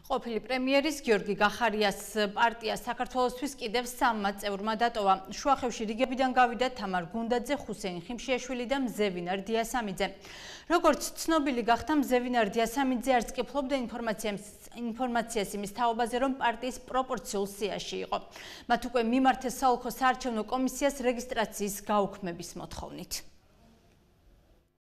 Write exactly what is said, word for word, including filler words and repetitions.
ყოფილი პრემიერის გიორგი გახარიას პარტია საქართველოსთვის კიდევ სამმა წევრმა დატოვა. შუახევში რიგებიდან გავიდა თამარ გუნდაძე, ხუსეინ ხიმშიაშვილი და მზევინარ დიასამიძე. როგორც ცნობილი გახდა, მზევინარ დიასამიძე არც კი ფლობდა ინფორმაციას იმის თაობაზე, რომ პარტიის პროპორციულ სიაში იყო. მათ უკვე მიმართეს საოლქო საარჩევნო კომისიას რეგისტრაციის გაუქმების მოთხოვნით.